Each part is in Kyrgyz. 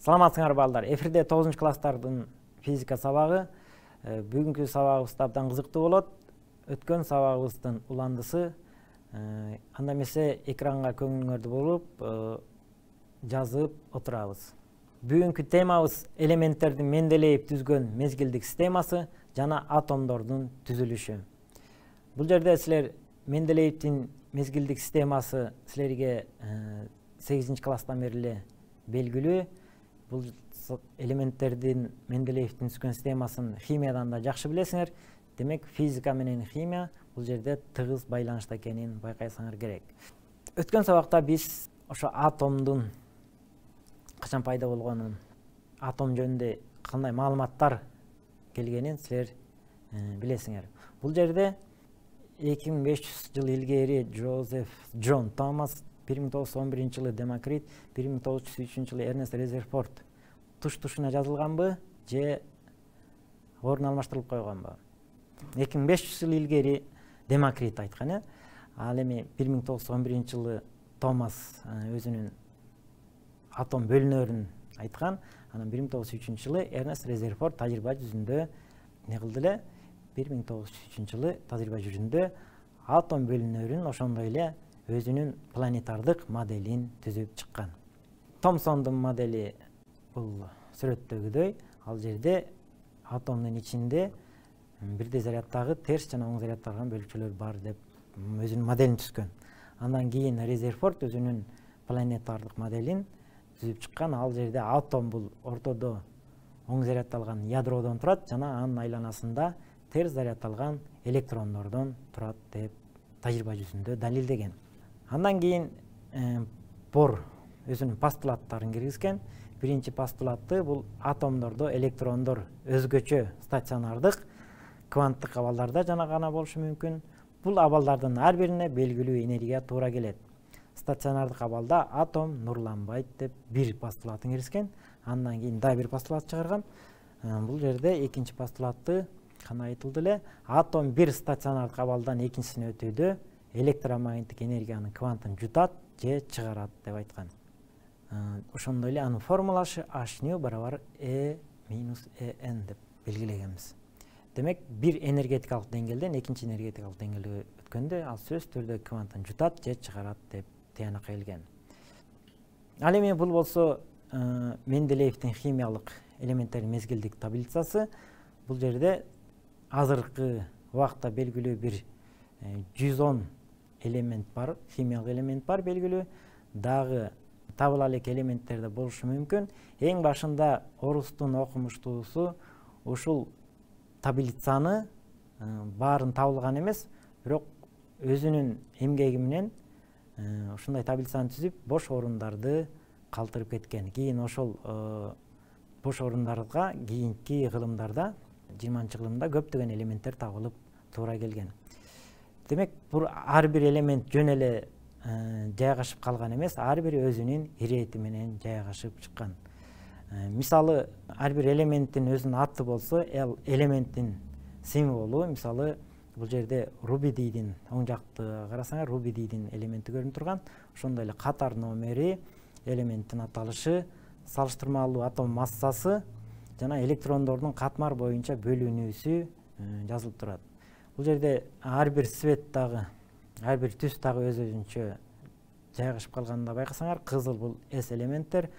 Саламатсыңар балдар. Эфирде 9 класстардын физика сабагы. Бүгүнкү сабагыбыз абдан кызыктуу болот. Өткөн сабагыбыздын уландысы. Анда эмесе экранга көңүлүңөрдү буруп, жазып отурабыз. Бүгүнкү темабыз элементтердин менделеев түзгөн мезгилдик системасы жана атомдордун түзүлүшү. Бул жерде силер Менделеевдин мезгилдик системасы силерге 8 класстан бери эле белгилүү. Бул элементтердин Менделеевдин түзгөн системасын химиядан да жакшы билесиңер. Демек, физика менен химия бул жерде тыгыз байланышта экенин байкасаңар керек. Өткөн сабакта биз ошо атомдун качан пайда болгонун, атом жөнүндө кандай маалыматтар келгенин силер билесиңер. Бул жерде 2500 жыл илгери Джозеф Джон Томас, 1911 жылы Демокрит, 1903 жылы Эрнест Резерфорд туш-тушуна жазылганбы же орун алмаштырылып койгонбу? 2500 жыл илгери Демокрит айткан, ал эми 1911 жылы Томас өзүнүн атом бөлүнөрүн айткан. Анан 1903 жылы Эрнест Резерфорд тажрыйба жүзүндө не кылды эле? 1903 жылы тажрыйба жүзүндө атом бөлүнөрүн ошондой эле өзүнүн планетардык моделин түзүп чыккан. Томсондун модели бул сүрөттөгүдөй. Ал жерде атомдун ичинде бирдей заряддагы терс жана оң заряддагы бөлүкчөлөр бар деп өзүнүн моделин түзгөн. Андан кийин Резерфорд өзүнүн планетардык моделин түзүп чыккан. Ал жерде атом бул ортодо оң заряддалган ядродон турат жана анын айланасында терс заряддалган электрондордон турат деп тажрыйба жүзүндө далилдеген. Андан кийин Бор өзүнүн постулаттарын киргизген. Биринчи постулаты бул атомдордо электрондор өзгөчө стационардык кванттык абалдарда жана гана болушу мүмкүн. Бул абалдардын ар бирине белгилүү энергия туура келет. Стационардык абалда атом нурланбайт деп бир постулатын киргизген. Андан кийин да бир постулат чыгарган. Бул жерде экинчи постулаты кандай айтылды эле? Атом бир стационардык абалдан экинчисине өтүүдө электромагниттик энергиянын квантын жутат же чыгарат деп айткан. Ошондой эле анын формуласы h барабар E минус En деп белгилегенбиз. Демек, бир энергетикалык деңгээлден экинчи энергетикалык деңгээлге өткөндө ал сөзсүз түрдө квантын жутат же чыгарат деп тыянак келген. Ал эми бул болсо Менделеевдин химиялык элементтердин мезгилдик таблицасы. Бул жерде азыркы убакта белгилүү бир 110 элемент бар, химиялык элемент бар белгилүү. Дагы табыла элек элементтер да болушу мүмкүн. Эң башында орустун окумуштуусу ушул таблицаны баарын табылган эмес, бирок өзүнүн эмгеги менен ушундай таблицаны түзүп, бош орундарды калтырып кеткен. Кийин ошол бош орундарга кийинки кылымдарда 20-кылымда көптөгөн элементтер табылып туура келген. Демек, бул ар бир элемент жөн эле жайгашып калган эмес, ар бири өзүнүн ирети менен жайгашып чыккан. Мисалы, ар бир элементтин өзүнүн аты болсо, элементтин символу, мисалы, бул жерде рубидийдин оң жакты карасаңар, рубидийдин элементи көрүнүп турган. Ошондой эле катар номери, элементтин аталышы, салыштырмалуу атом массасы жана электрондордун катмар боюнча бөлүнүүсү жазылып турат. Бул жерде ар бир свет дагы, ар бир түс дагы өзүнчө жайгашып калганын да байкасаңар, кызыл бул S элементтер,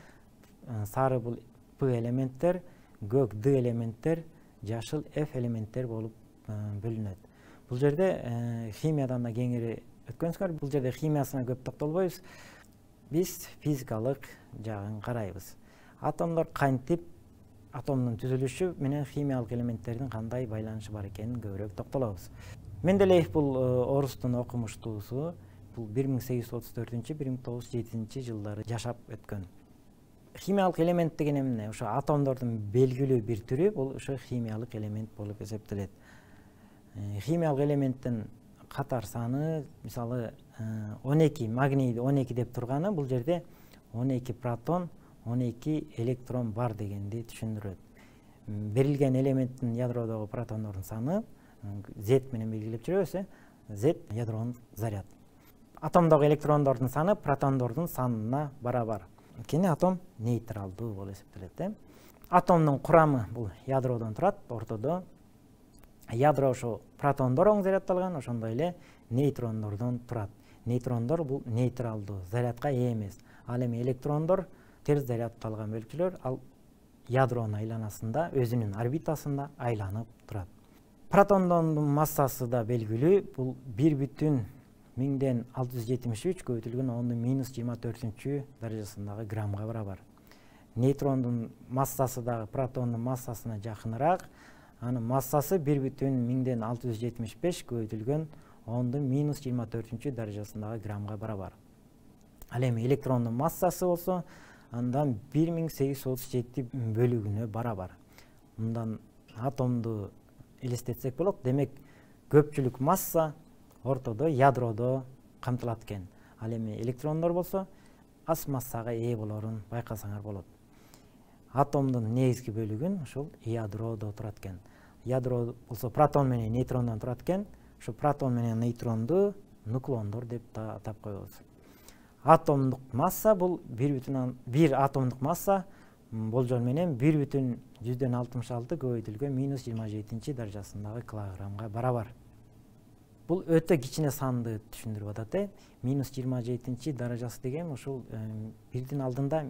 сары бул P элементтер, көк D элементтер, жашыл F элементтер болуп бөлүнөт. Бул жерде химиядан да кеңири өткөнсүңөр. Бул жерде химиясына көп токтолбойбуз. Биз физикалык жагын карайбыз. Атомдор кантип, атомдун түзүлүшү менен химиялык элементтердин кандай байланышы бар экенин көбүрөөк токтолобуз. Менделеев бул орустун окумуштуусу. Бул 1834-1907 жылдары жашап өткөн. Химиялык элемент деген эмне? Ошо атомдордун белгилүү бир түрү бул ошо химиялык элемент болуп эсептелет. Химиялык элементтин катар саны, мисалы, 12, магнийди 12 деп турганы, бул жерде 12 протон, 12 электрон бар дегенди түшүндүрөт. Берилген элементтин ядродогу протондордун саны Z менен белгилеп жүрөбүз, Z ядронун заряд. Атомдогу электрондордун саны протондордун санына барабар. Анткени атом нейтралдуу болуп эсептелет. Атомдун курамы бул ядродон турат. Ортодо ядро ошо протондор оң зарядталган, ошондой эле нейтрондордон турат. Нейтрондор бул нейтралдуу, зарядка ээ эмес. Ал эми электрондор терс зарядталган бөлүкчөлөр, ал ядронун айланасында, өзүнүн орбитасында айланып турат. Протондордун массасы да белгилүү. Бул 1,1673 көбөйтүлгөн 10⁻24 даражасындагы граммга барабар. Нейтрондун массасы дагы протондун массасына жакыныраак. Анын массасы 1,675 көбөйтүлгөн 10⁻24 даражасындагы граммга барабар. Ал эми электрондун массасы болсо андан 1837 бөлүгүнө барабар. Мындан атомду элестетсек болот. Демек көпчүлүк масса ортодо ядродо камтылат экен. Ал эми электрондор болсо аз массага ээ болорун байкасаңар болот. Атомдун негизги бөлүгүн ушул ядродо турат экен. Ядро болсо протон менен нейтрондон турат экен. Ошо протон менен нейтронду нуклондор деп атап коебуз. Атомдук масса бул 1 атомдук масса болжол менен 1,166 көбөйтүлгөн -27 даражасындагы килограммга барабар. Бул өтө кичине санды түшүндүрүп атат. -27 даражасы деген ушул 1дин алдында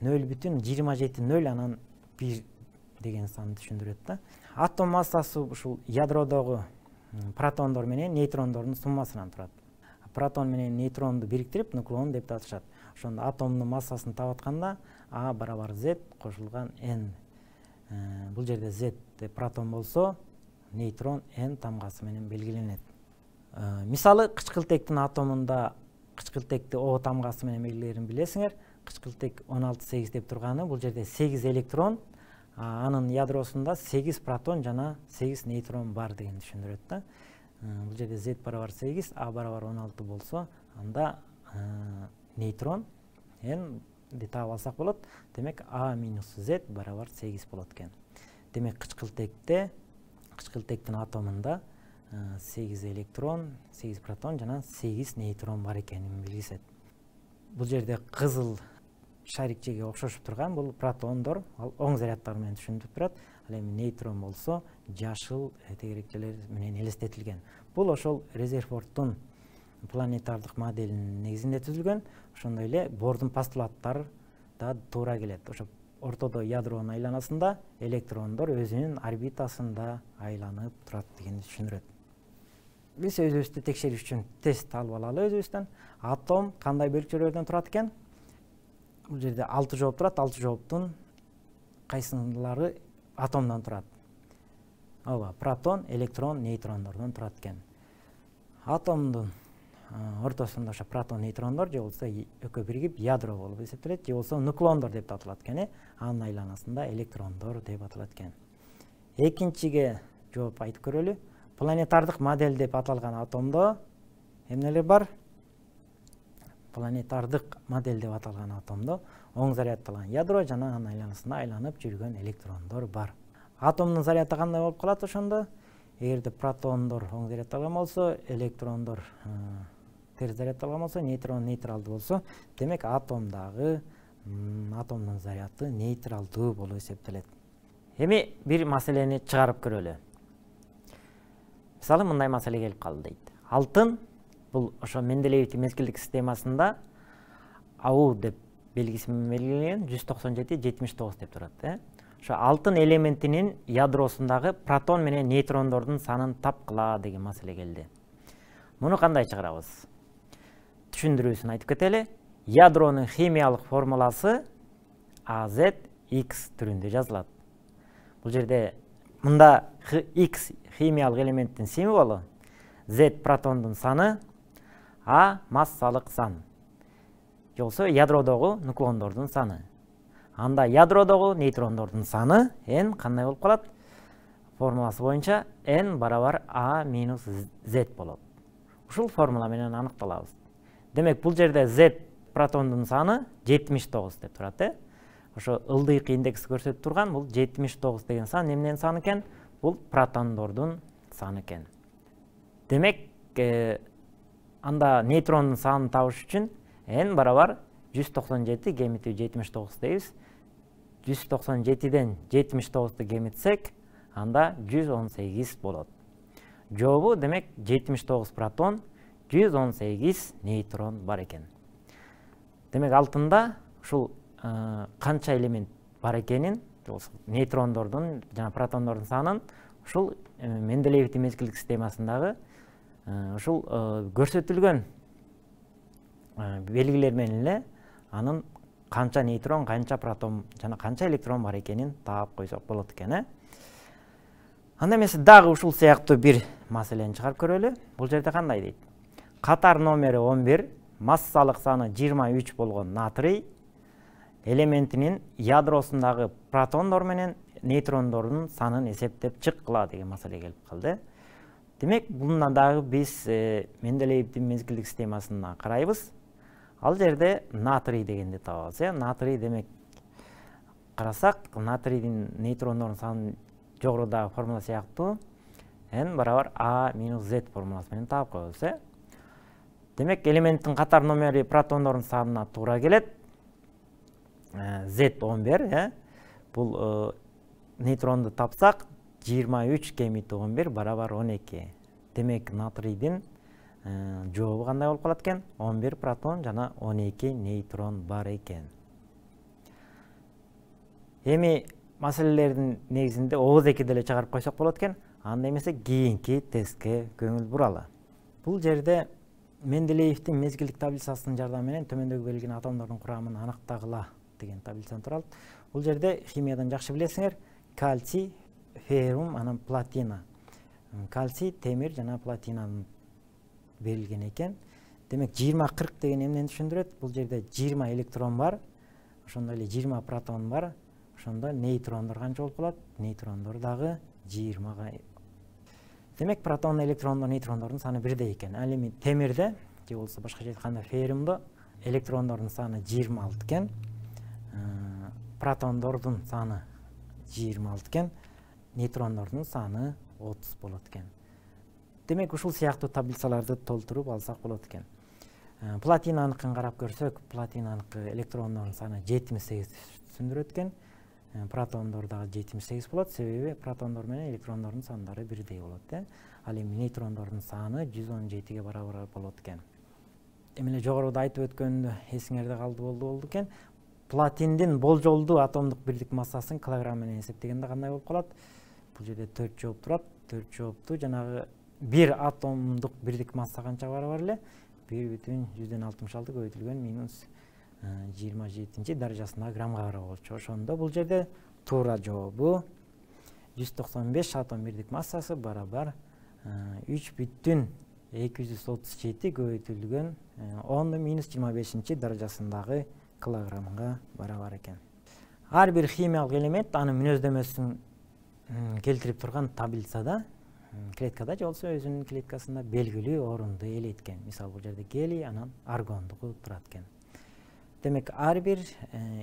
0,27 анан 1 деген санды түшүндүрөт. Атом массасы ушул ядродогу протондор менен нейтрондордун суммасынан турат. Протон менен нейтронду бириктирип нуклон деп аташат. Ошондо атомдун массасын таап атканда А барабар Z кошулган N. Бул жерде Z протон болсо, нейтрон N тамгасы менен белгиленет. Мисалы, кычкылтектин атомунда кычкылтекти O тамгасы менен белгилерин билесиңер. Кычкылтек 16-8 деп турганы бул жерде 8 электрон, анын ядросунда 8 протон жана 8 нейтрон бар деген түшүндүрөт. Бул жерде Z барабар 8, A барабар 16 болсо, анда нейтрон N деп таап алсак болот. Демек A минус Z барабар 8 болот экен. Демек кычкылтектин атомунда 8 электрон, 8 протон жана 8 нейтрон бар экенин билгизет. Бул жерде кызыл шарикчеге окшошуп турган бул протондор, ал оң зарядтар менен түшүндүрүп турат. Ал эми нейтрон болсо жашыл тегерекчелер менен элестетилген. Бул ошол Резерфордтун планетардык моделинин негизинде түзүлгөн. Ошондой эле Бордун постулаттары да туура келет. Ошо ортодо ядронун айланасында электрондор өзүнүн орбитасында айланып турат дегенди түшүндүрөт. Биз өзүбүздү текшериш үчүн тест алып алалы өзүбүздөн. Атом кандай бөлүкчөлөрдөн турат экен? Бул жерде 6 жооп турат. 6 жооптун кайсылары атомдон турат? Ооба, протон, электрон, нейтрондордон турат экен. Атомдун ортосунда ошо протон, нейтрондор же болсо экөө биригип ядро болуп эсептелет, же болсо нуклондор деп аталат экен. Анын айланасында электрондор деп аталат экен. Экинчиге жооп айтып көрөлү. Планетардык модель деп аталган атомдо эмнелер бар? Планетардык модель деп аталган атомдо оң зарядталган ядро жана анын айланасында айланып жүргөн электрондор бар. Атомдун заряды кандай болуп калат ошондо? Эгерде протондор оң зарядталган болсо, электрондор терс зарядталган болсо, нейтрон нейтралдуу болсо, демек атомдун заряды нейтралдуу болуп эсептелет. Эми бир маселени чыгарып көрөлү. Мисалы, мындай маселе келип калды дейт. Алтын бул ошо Менделеевдин мезгилдик системасында АУ деп белгиси менен белгиленген 197-79 деп турат. Ошо алтын элементинин ядросундагы протон менен нейтрондордун санын тапкыла деген маселе келди. Муну кандай чыгарабыз? Түшүндүрүүсүн айтып кетели. Ядронун химиялык формуласы AZX түрүндө жазылат. Бул жерде мында X химиялык элементтин символу, Z протондун саны, А массалык сан. Же болсо ядродогу нуклондордун саны. Анда ядродогу нейтрондордун саны N кандай болуп калат? Формуласы боюнча N барабар A минус Z болот. Ушул формула менен аныкталабыз. Демек бул жерде Z протондун саны 79 деп турат. Ошо ылдыйкы индекс көрсөтүп турган бул 79 деген сан эмненин саны экен? Бул протондордун саны экен. Демек анда нейтрондун санын табыш үчүн N барабар 197 кемитүү 79 дейбиз. 197ден 79-ду кемитсек, анда 118 болот. Жообу демек 79 протон, 118 нейтрон бар экен. Демек алтында ушул канча элемент бар экенин, нейтрондордун жана протондордун санын ушул Менделеевдин мезгилдик системасындагы ушул көрсөтүлгөн белгилер менен эле анын канча нейтрон, канча протон жана канча электрон бар экенин таап койсок болот экен. Анда эмесе дагы ушул сыяктуу бир маселени чыгарып көрөлү. Бул жерде кандай дейт? Катар номери 11, массалык саны 23 болгон натрий элементинин ядросундагы протондор менен нейтрондордун санын эсептеп чыккыла деген маселе келип калды. Демек, бундан дагы биз Менделеевдин мезгилдик системасына карайбыз. Ал жерде натрий дегенди табабыз. Натрий демек карасак, натрийдин нейтрондордун санын жогорудагы формула сыяктуу n барабар a минус z формуласы менен таап коебуз. Демек, элементтин катар номери протондордун санына туура келет. Z11, бул нейтронду тапсак, 23 кемитүү 11 барабар 12. Демек, натрийдин жообу кандай болуп калат экен? 11 протон жана 12 нейтрон бар экен. Эми маселелердин негизинде ооз эки деле чыгарып койсок болот экен. Анда эмесе кийинки тестке көңүл буралы. Бул жерде Менделеевдин мезгилдик таблицасынын жардамы менен төмөндөгү берилген атомдордун курамын аныктагыла деген таблицаны турат. Бул жерде химиядан жакшы билесиңер, кальций, феррум, анан платина. Кальций, темир жана платинанын берилген экен. Демек 20-40 деген эмнени түшүндүрөт? Бул жерде 20 электрон бар, ошондой эле 20 протон бар. Ошондо нейтрондор канча болуп калат? Нейтрондор дагы 20-га. Демек, протон, электрондор, нейтрондордун саны бирдей экен. Ал эми темирде, же болбосо башкача айтканда феррумдо электрондордун саны 26 экен. Протондордун саны 26 экен, нейтрондордун саны 30 болот экен. Демек, ушул сыяктуу таблицаларды толтуруп алсак болот экен. Платинаныкын карап көрсөк, платинаныкы электрондордун саны 78 түшүндүрөт экен. Протондор дагы 78 болот, себеби протондор менен электрондордун сандары бирдей болот. Ал эми нейтрондордун саны 117ге барабар болот экен. Эмне жогоруда айтып өткөндө эсиңерде болду экен. Платиндин болжолдуу атомдук бирдик массасын килограмм менен эсептегенде кандай болуп калат? Бул жерде 4 жооп турат. 4 жоопту жанагы бир атомдук бирдик масса канча барабар эле? 1,166 көбөйтүлгөн минус 27 даражасындагы граммга барабар болчу. Ошондо бул жерде туура жообу 195 атом бирдик массасы барабар 3,237 көбөйтүлгөн 10 минус 25 даражасындагы килограммга барабар экен. Ар бир химиялык элемент анын мүнөздөмөсүн келтирип турган таблицада, клеткада же болбосо өзүнүн клеткасында белгилүү орунду ээлейт экен. Мисалы, бул жерде гелий, анан аргондугу турат экен. Демек, ар бир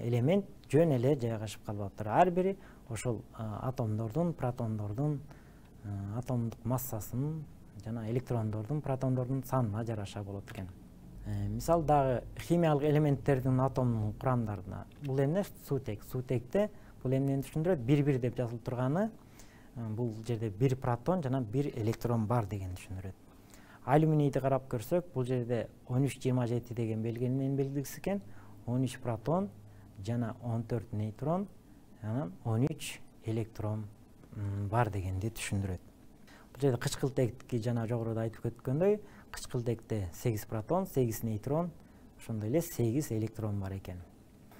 элемент жөн эле жайгашып калбаптыр. Ар бири ошол атомдордун, протондордун атомдук массасынын жана электрондордун, протондордун санына жараша болот экен. Мисалы, дагы химиялык элементтердин атомдун курамдарына бул эмне? Суутек. Суутекте бул эмнени түшүндүрөт? 1-1 деп жазылып турганы бул жерде 1 протон жана 1 электрон бар деген түшүндүрөт. Алюминийди карап көрсөк, бул жерде 13-27 деген белгинин белгиси экен. 13 протон жана 14 нейтрон, анан 13 электрон бар дегенди түшүндүрөт. Бул жерде кычкылтекти жана жогоруда айтып өткөндөй, кычкылтекте 8 протон, 8 нейтрон, ошондой эле 8 электрон бар экен.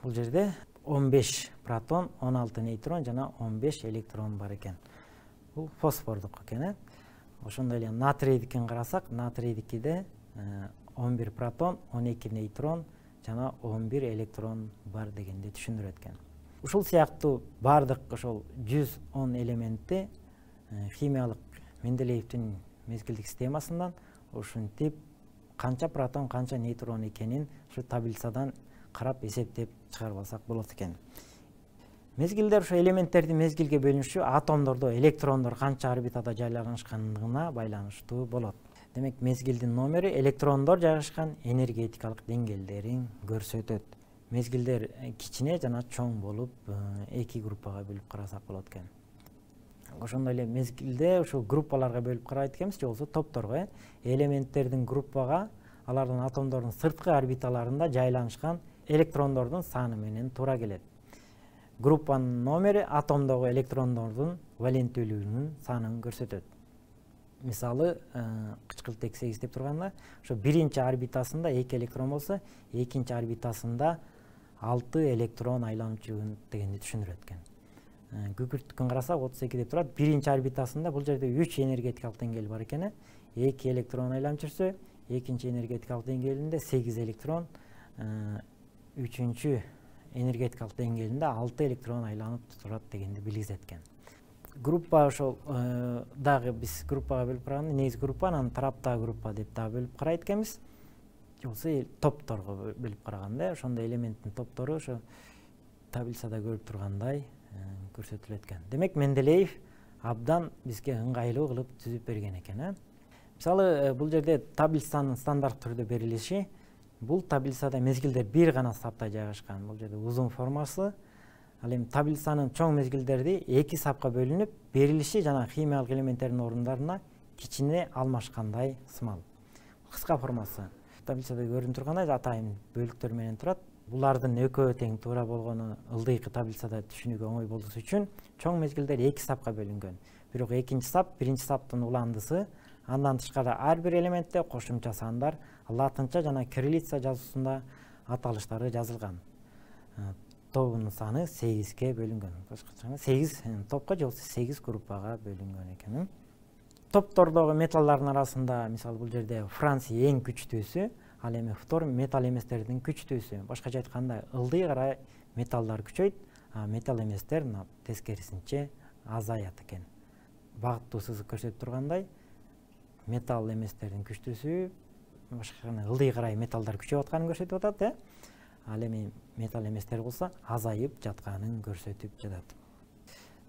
Бул жерде 15 протон, 16 нейтрон жана 15 электрон бар экен. Бул фосфордук экен. Ошондой эле натрийдикин карасак, натрийдикиде 11 протон, 12 нейтрон жана 11 электрон бар дегенди түшүндүрөт экен. Ушул сыяктуу бардык ошол 110 элементти химиялык Менделеевдин мезгилдик системасынан ушинтип канча протон, канча нейтрон экенин ушу таблицадан карап эсептеп чыгарып алсак болот экен. Мезгилдер ушу элементтердин мезгилге бөлүнүшү атомдордо электрондор канча орбитада жайланышкандыгына байланыштуу болот. Демек мезгилдин номери электрондор жайгашкан энергетикалык деңгээлдерин көрсөтөт. Мезгилдер кичине жана чоң болуп эки группага бөлүп карасак болот экен. Ошондой эле мезгилде ушул группаларга бөлүп карайт экенбиз, же болбосо топторго. Элементтердин группага алардын атомдордун сырткы орбиталарында жайланышкан электрондордун саны менен туура келет. Группанын номери атомдогу электрондордун валенттүүлүгүнүн санын көрсөтөт. Мисалы, кычкылтек 8 деп турганда, ошо биринчи орбитасында 2 электрон болсо, экинчи орбитасында 6 электрон айланып жүргөн дегенди түшүндүрөт экен. Күкүрттүкүн карасак 32 деп турат. Биринчи орбитасында бул жерде 3 энергетикалык деңгээл бар экен. 2 электрон айланып жүрсө, экинчи энергетикалык деңгээлинде 8 электрон, үчүнчү энергетикалык деңгээлинде 6 электрон айланып турат дегенди билгизет экен. Группа ошол дагы биз группага бөлүп караганда, негизи группа, анан тараптагы группа деп дагы бөлүп карайт экенбиз. Же болбосо топторго бөлүп караганда, ошондой элементтин топтору ошо таблицада көрүп тургандай көрсөтүлөт экен. Демек Менделеев абдан бизге ыңгайлуу кылып түзүп берген экен. Мисалы, бул жерде таблицанын стандарт түрдө берилиши, бул таблицада мезгилдер бир гана сапта жайгашкан. Бул жерде узун формасы. Ал эми таблицанын чоң мезгилдерди 2 сапка бөлүнүп, берилиши жана химиялык элементтердин орундарына кичине алмашкандай сымал. Кыска формасы. Таблицада көрүнүп тургандай атайын бөлүктөр менен турат. Булардын экөө тең туура болгону ылдыйкы таблицада түшүнүүгө оңой болуусу үчүн чоң мезгилдер 2 сапка бөлүнгөн. Бирок экинчи сап, биринчи саптын уландысы, андан тышкары ар бир элементте кошумча сандар латынча жана кириллица жазуусунда аталыштары жазылган. Тобунун саны 8ге бөлүнгөн. Башкача 8 топко же 8 группага бөлүнгөн экен. Топтордогу металлардын арасында, мисалы, бул жерде Франция эң күчтүүсү, ал эми фтор металл эместердин күчтүүсү. Башкача айтканда, ылдый карай металлдар күчөйт, а металл эместер тескерисинче азаят экен. Багыттуу сызык көрсөтүп тургандай, металл эместердин күчтүүсү башкача ылдый карай металлдар күчөп атканын көрсөтүп атат, Ал эми металл эместер болсо азайып жатканын көрсөтүп жатат.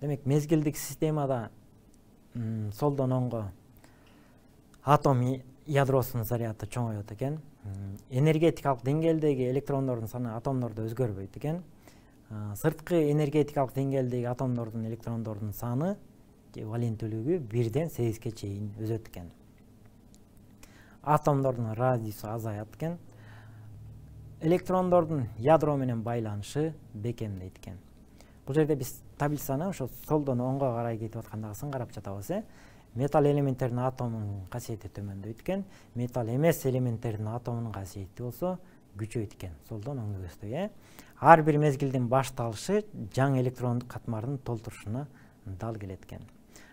Демек, мезгилдик системада солдон оңго атом ядросунун заряды чоңойот экен. Энергетикалык деңгээлдеги электрондордун саны атомдордо өзгөрбөйт экен. Сырткы энергетикалык деңгээлдеги атомдордун электрондордун саны валенттүүлүгү 1-ден 8ге чейин өсөт экен. Атомдордун радиусу азаят экен. Электрондордун ядро менен байланышы бекемдейт экен. Бул жерде биз таблицаны ошо солдон оңго карай кетип аткандагысын карап жатабыз. Металл элементтердин атомунун касиети төмөндөйт экен. Металл эмес элементтердин атомунун касиети болсо күчөйт экен. Солдон оңго көздөй. Ар бир мезгилдин башталышы жаңы электрондук катмардын толтурушуна дал келет экен.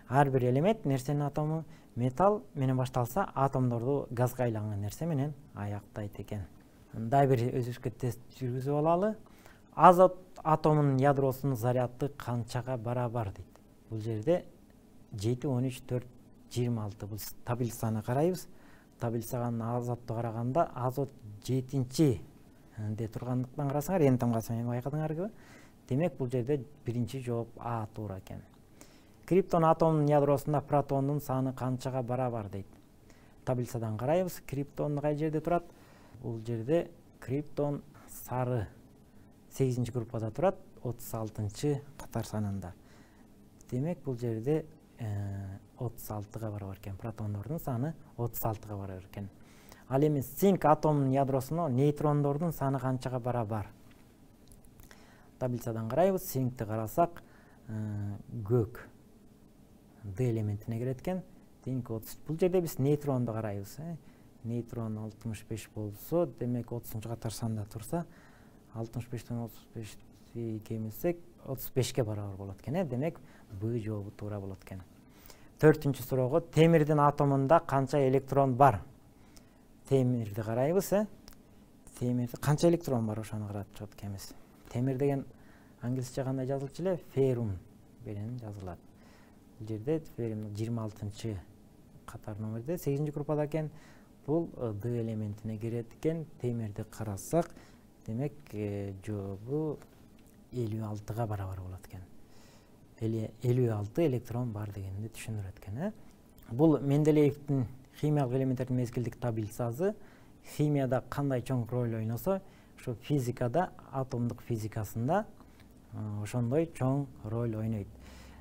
Ар бир элемент нерсенин атому металл менен башталса, атомдорду газга айланган нерсе менен аяктайт экен. Дагы бир өзүбүзгө тест жүргүзүп алалы. Азот атомунун ядросунун заряды канчага барабар дейт. Бул жерде 7, 13, 4, 26 бул таблицаны карайбыз. Таблицага азотто караганда азот 7-де тургандыктан карасаңар, эми тамгасы менен байкадыңарбы? Демек, бул жерде биринчи жооп А туура экен. Криптон атомунун ядросунда протондун саны канчага барабар дейт. Таблицадан карайбыз. Криптон кай жерде турат? Бул жерде криптон сары 8-чи группада турат, 36-чы катар санында. Демек, бул жерде 36-га барабар экен. Протондордун саны 36-га барабар экен. Ал эми цинк атомунун ядросуна нейтрондордун саны канчага барабар? Таблицадан карайбыз. Цинкти карасак, көк D элементине кирет экен. Цинк 30. Бул жерде биз нейтронду карайбыз. Нейтрон 65 болсо, демек 30-чы катар санда турса, 65-тен 35 кемисек 35-ке барабар болот экен. Демек, Б жообу туура болот экен. 4-чү суроого, темирдин атомунда канча электрон бар? Темирди карайбыз. Темирде канча электрон бар, ошону карап чыгат экенбиз. Темир деген англисче кандай жазылчу эле? Феррум менен жазылат. Бул жерде феррум 26-чы катар номерде 8-чи группада экен. Бул D элементине кирет экен. Темирди карасак, демек жообу 56-га барабар болот экен. 56 электрон бар дегенди түшүндүрөт экен. Бул Менделеевдин химиялык элементтердин мезгилдик таблицасы химияда кандай чоң роль ойносо, ушу физикада, атомдук физикасында ошондой чоң роль ойнойт.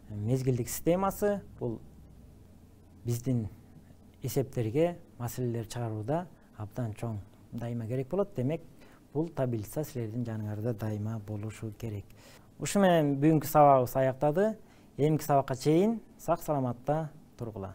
Мезгилдик системасы бул биздин эсептерге маселелер чыгарууда абдан чоң дайыма керек болот. Демек, бул таблица силердин жаныңарда дайыма болушу керек. Ушу менен бүгүнкү сабагыбыз аяктады. Эмки сабакка чейин сак саламатта тургула.